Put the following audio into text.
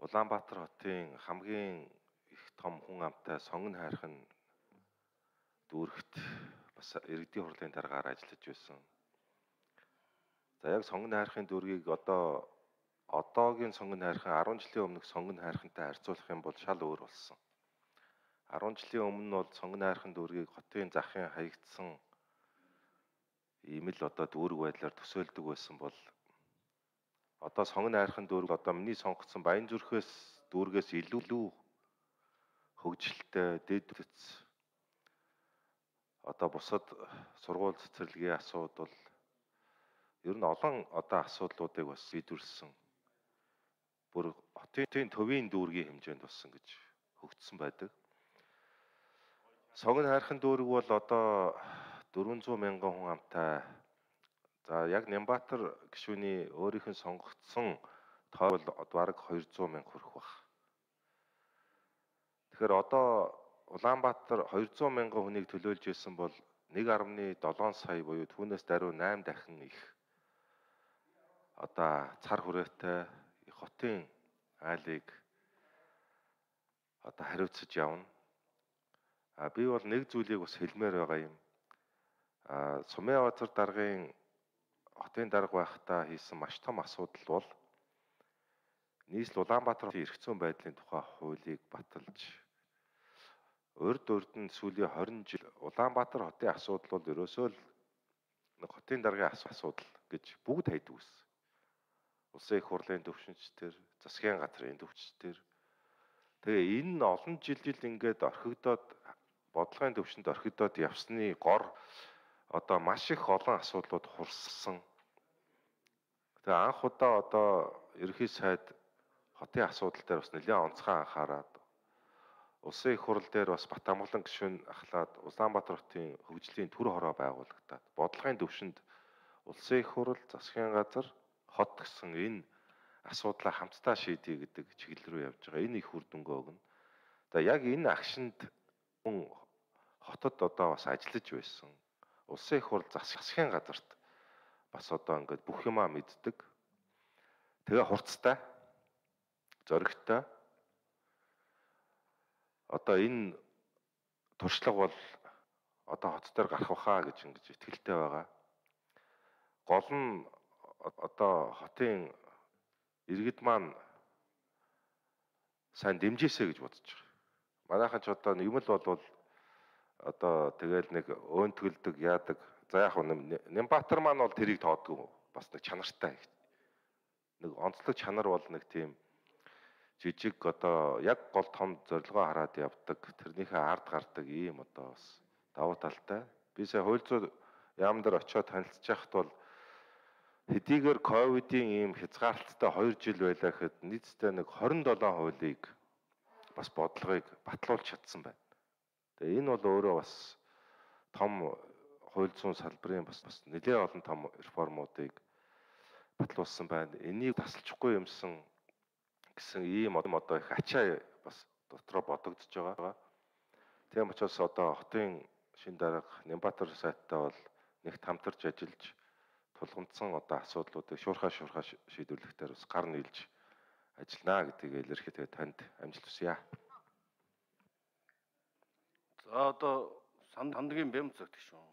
Улаанбаатар хотын хамгийн их том хүн амтай сонгон хайрхан дүүрэгт бас иргэдийн хурлын дараагаар ажиллаж байсан. За яг сонгон хайрхын дүүргийг одоогийн сонгон хайрхан 10 жилийн өмнөх сонгон хайрхантай харьцуулах юм бол шал өөр болсон. 10 жилийн өмнө нь бол сонгон хайрхан дүүргийг хотын захын хаягдсан ийм л дүүрэг байдлаар төсөөлдөг байсан бол одоо сонгон хайрхан дүүрэг миний сонгогдсон Баянзүрхээс дүүргээс илүү хөгжилтэй дэд үтц бусад сургууль цэцэрлэгийн асуудал ер нь олон асуудлуудыг бас шийдвэрлсэн бүр хотын төвийн дүүргийн хэмжээнд болсон гэж хөгжсөн байдаг. Сонгон хайрхан дүүрэг бол 400 мянган хүн амтай. За яг Нямбатар гишүүний өөрийнх нь сонгогдсон тоо бол бараг 200 мянга хүрэх баг. Тэгэхээр Улаанбаатар 200 мянган хүнийг төлөөлж исэн бол 1.7 сая буюу түүнээс даруй 8 дахин их цар хүрээтэй хотын айлыг хариуцаж явна. Би бол нэг зүйлийг бас хэлмээр байгаа юм. Сумын даргын хотын дарга байхдаа хийсэн маш том асуудал бол нийслэл Улаанбаатарын эрх зүйн байдлын тухай хуулийг баталж урд нь сүүлийн 20 жил Улаанбаатар хотын асуудал бол ерөөсөө л хотын даргын асуудал гэж бүгд хайдаг байсан. Улсын их хурлын төвшинчдэр, засгийн газрын төвчдэр. Тэгээ энэ олон жил ингээд орхигдоод бодлогын төвшөнд орхигдоод явсны гор маш их олон асуудлууд хурссан. Тэгээ анх ерөнхий сайд хотын асуудал дээр бас нэлээд онцгой анхаарад улсын их хурл дээр бас Батамгалан гишүүн ахлаад Улаанбаатар хотын хөгжлийн түр хороо байгуулагдаад бодлогын төвшөнд улсын их хурл, засгийн газар, хот гэсэн энэ асуудлаа хамтдаа шийдэе гэдэг чиглэл рүү явж байгаа. Энэ их үр дүнгээ өгнө. Тэгээ яг энэ агшинд хүн хотод бас ажиллаж байсан. Улсын их хурл, засгийн газарт бас ингээд бүх юмаа мэддэг. Тэгээ хурцтай, зоригтой. Энэ туршлага бол хот дээр гарах бахаа гэж ингэж итгэлтэй байгаа. Гол нь хотын иргэд маань сайн дэмжээсэй гэж бодож байгаа. Манайхан ч юм л бол тэгэл нэг өөнтгөлдөг яадаг. За яг Нямбатар маань бол тэрийг тоодгүй бас нэг чанартай. Нэг онцлог чанар бол нэг тийм жижиг яг гол том зорилгоо хараад явдаг. Тэрнийхээ ард гардаг ийм бас давуу талтай. Би сая хууль зүйн яам дээр очиод танилцж байхад бол хэдийгээр ковидын ийм хязгаарлалттай 2 жил байлаа гэхэд нийтдээ нэг 27 хуулийг бас бодлогыг батлуулж чадсан байна. Тэгээ энэ бол өөрөө бас том хууль зүйн салбарын бас нэлээд олон том реформуудыг батлуулсан байна. Энийг тасалчихгүй юмсан гэсэн ийм их ачаа бас дотроо бодогдож байгаа. Тийм учраас хотын шин дарга Нямбатар сайттай бол нэгт хамтарч ажиллаж тулгамдсан асуудлуудыг шуурхай шийдвэрлэх дээр бас гар нийлж ажиллана гэдгийг илэрхийлээд танд амжилт хүсье. За Сандгийн Бямц гэх шүү.